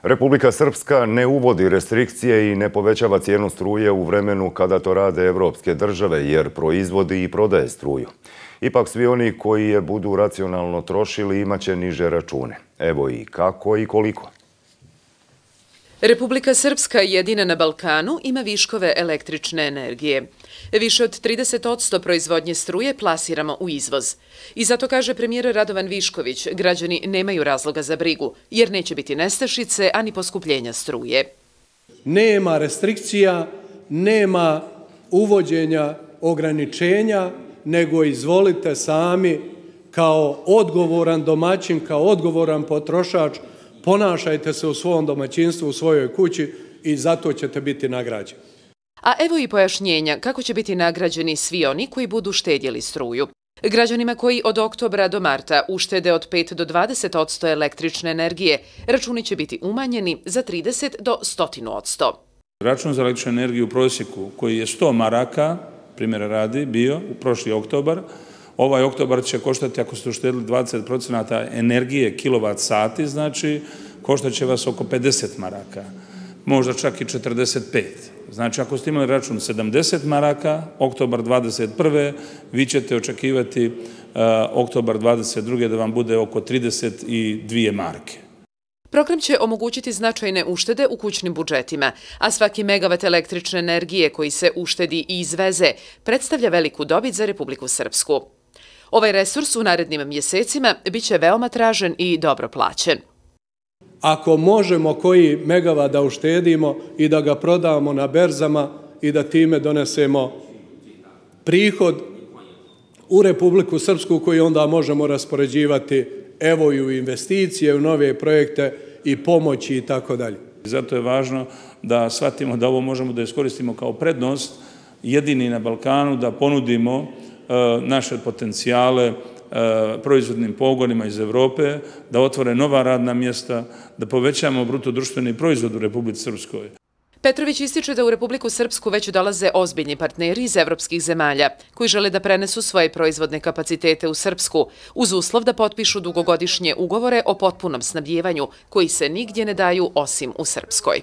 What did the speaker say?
Republika Srpska ne uvodi restrikcije i ne povećava cijenu struje u vremenu kada to rade evropske države, jer proizvodi i prodaje struju. Ipak svi oni koji je budu racionalno trošili imaće niže račune. Evo i kako i koliko. Republika Srpska, jedina na Balkanu, ima viškove električne energije. Više od 30% proizvodnje struje plasiramo u izvoz. I zato, kaže premijer Radovan Višković, građani nemaju razloga za brigu, jer neće biti nestašice, ani poskupljenja struje. Nema restrikcija, nema uvođenja ograničenja, nego izvolite sami kao odgovoran domaćin, kao odgovoran potrošač, ponašajte se u svom domaćinstvu, u svojoj kući i zato ćete biti nagrađeni. A evo i pojašnjenja kako će biti nagrađeni svi oni koji budu štedjeli struju. Građanima koji od oktobra do marta uštede od 5 do 20% električne energije, računi će biti umanjeni za 30 do 100%. Račun za električnu energiju u prosjeku koji je 100 maraka, primjera radi, bio u prošli oktobar, ovaj oktobar će koštati, ako ste uštedili 20% energije kilovat sati, znači koštat će vas oko 50 maraka, možda čak i 45. Znači, ako ste imali račun 70 maraka, oktobar 21. vi ćete očekivati oktobar 22. da vam bude oko 32 marke. Program će omogućiti značajne uštede u kućnim budžetima, a svaki megavat električne energije koji se uštedi i izveze predstavlja veliku dobit za Republiku Srpsku. Ovaj resurs u narednim mjesecima biće veoma tražen i dobro plaćen. Ako možemo koji megavat da uštedimo i da ga prodamo na berzama i da time donesemo prihod u Republiku Srpsku koji onda možemo raspoređivati evo i u investicije, u nove projekte i pomoći i tako dalje. Zato je važno da shvatimo da ovo možemo da iskoristimo kao prednost, jedini na Balkanu, da ponudimo naše potencijale proizvodnim pogonima iz Evrope, da otvore nova radna mjesta, da povećamo bruto društveni proizvod u Republici Srpskoj. Petrović ističe da u Republiku Srpsku već dolaze ozbiljni partneri iz evropskih zemalja, koji žele da prenesu svoje proizvodne kapacitete u Srpsku, uz uslov da potpišu dugogodišnje ugovore o potpunom snabdijevanju, koji se nigdje ne daju osim u Srpskoj.